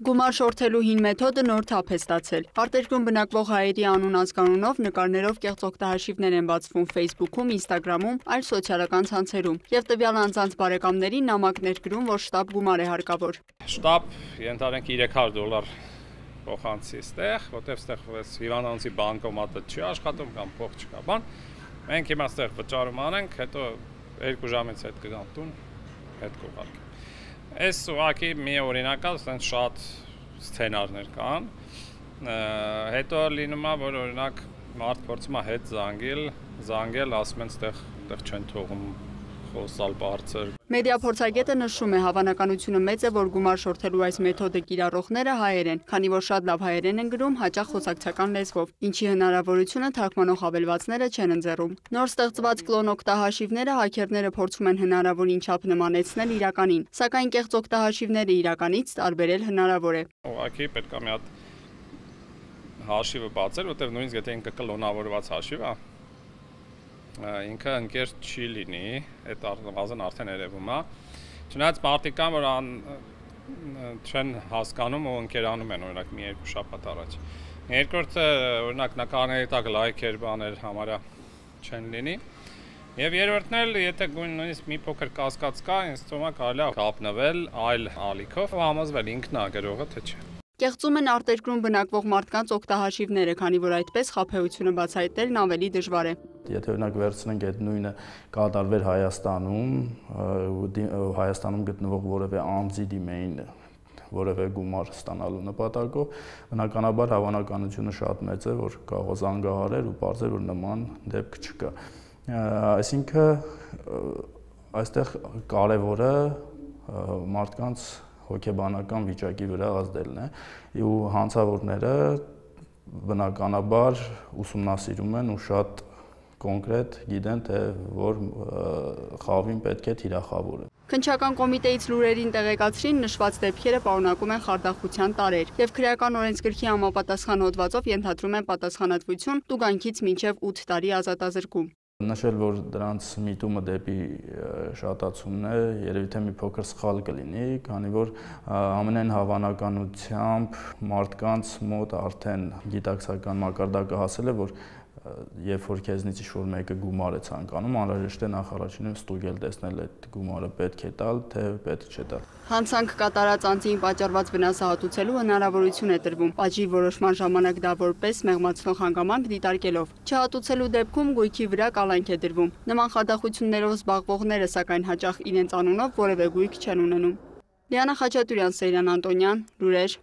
Գումար շորթելու հին մեթոդը նոր թափ է ստացել։ Արտերկրում բնակվող հայերի անուն ազգանունով նկարներով կեղծ օգտահաշիվներ են բացվում Facebook-ում, Instagram-ում, այլ սոցիալական ցանցերում, եւ տվյալ անձանց բարեկամներին նամակներ գրում, որ շտապ գումար է հարկավոր։ Շտապ ենթադրենք $300 փոխանցի ստեղ, որտեղ ստեղ հիվանդանոցի բանկոմատը չի աշխատում կամ փող չկա, բան։ Մենք հիմա ստեղ վճարում անենք, հետո 2 ժամից հետ կգան տուն, հետ կուղարկենք։ Այս ուղղակի մի օրինակ է, ասենք շատ սցենարներ կան, հետո լինում է, որ օրինակ մարդ փորձում է հետ զանգել, ասում են ստեղ չեն թողում խոսալ բարձր։ Մեդիա փորձագետը նշում է, հավանականությունը մեծ է, որ գումար շորթելու այս մեթոդը կիրառողները հայեր են, քանի որ շատ լավ հայերեն են գրում, հաճախ խոսակցական լեզվով, ինչի հնարավորությունը թարգմանող հավելվածները չեն ընձեռում։ Նոր ստեղծված կլոն օգտահաշիվները հաքերները փորձում են հնարավորին չափ նմանեցնել իրականին, սակայն կեղծ օգտահաշիվները իրականից տարբերել հնարավոր է։ Ուղղակի պետք է մի հատ հաշիվը բացել, որտեղ նույնիսկ եթե ինքը կլոնավորված հաշիվ է, ինքը ընկեր չի լինի, այդ արդեն երևում է։ Չնայած մարդիկ կան, որ չեն հասկանում ու ընկերանում են, օրինակ մի 2 շաբաթ առաջ։ Երկրորդը, օրինակ նկարների տակ լայքեր, բաներ համարյա չեն լինի։ Եվ երրորդն էլ, եթե նույնիսկ մի փոքր կասկած կա, ինձ թվում է կարելի է կապնվել այլ ալիքով ու համոզվել ինքն է գրողը, թե չէ։ Կեղծում են արտերկրում բնակվող մարդկանց օգտահաշիվները, քանի որ այդպես խաբեությունը բացահայտելն ավելի դժվար է։ Եթե օրինակ վերցնենք այդ նույնը կատարվեր Հայաստանում, Հայաստանում գտնվող որևէ անձի դիմեին որևէ գումար ստանալու նպատակով, բնականաբար հավանականությունը շատ մեծ է, որ կարող զանգահարեր ու պարզեր, որ նման դեպք չկա։ Այսինքն այստեղ կարևորը մարդկանց հոգեբանական վիճակի վրա ազդելն է, ու հանցավորները բնականաբար ուսումնասիրում են ու շատ կոնկրետ գիտեն, թե որ խավին պետք է թիրախավորը։ Քննչական կոմիտեից լուրերին տեղեկացրին, նշված դեպքերը պարունակում են խարդախության տարրեր եւ քրեական օրենսգրքի համապատասխան հոդվածով ենթադրում են պատասխանատվություն տուգանքից մինչեւ 8 տարի ազատազրկում։ Նշել, որ դրանց միտումը դեպի շատացումն է, երևի թե մի փոքր սխալ կլինի, քանի որ ամենայն հավանականությամբ մարդկանց մոտ արդեն գիտակցական մակարդակը հասել է, որ երբ որ քեզնից ինչ-որ մեկը գումար է ցանկանում, անհրաժեշտ է նախ առաջինը ստուգել, տեսնել այդ գումարը պետք է տալ, թե պետք չէ տալ։ Հանցանք կատարած անձին պատճառված վնասը հատուցելու հնարավորություն է տրվում, պատժի որոշման ժամանակ դա որպես մեղմացնող հանգամանք դիտարկելով։ Չհատուցելու դեպքում գույքի վրա կալանք է դրվում։ Նման խարդախություններով զբաղվողները սակայն հաճախ իրենց անունով որևէ գույք չեն ունենում։ Լիանա Խաչատուրյան, Սեյրան Անտոնյան, լուրեր։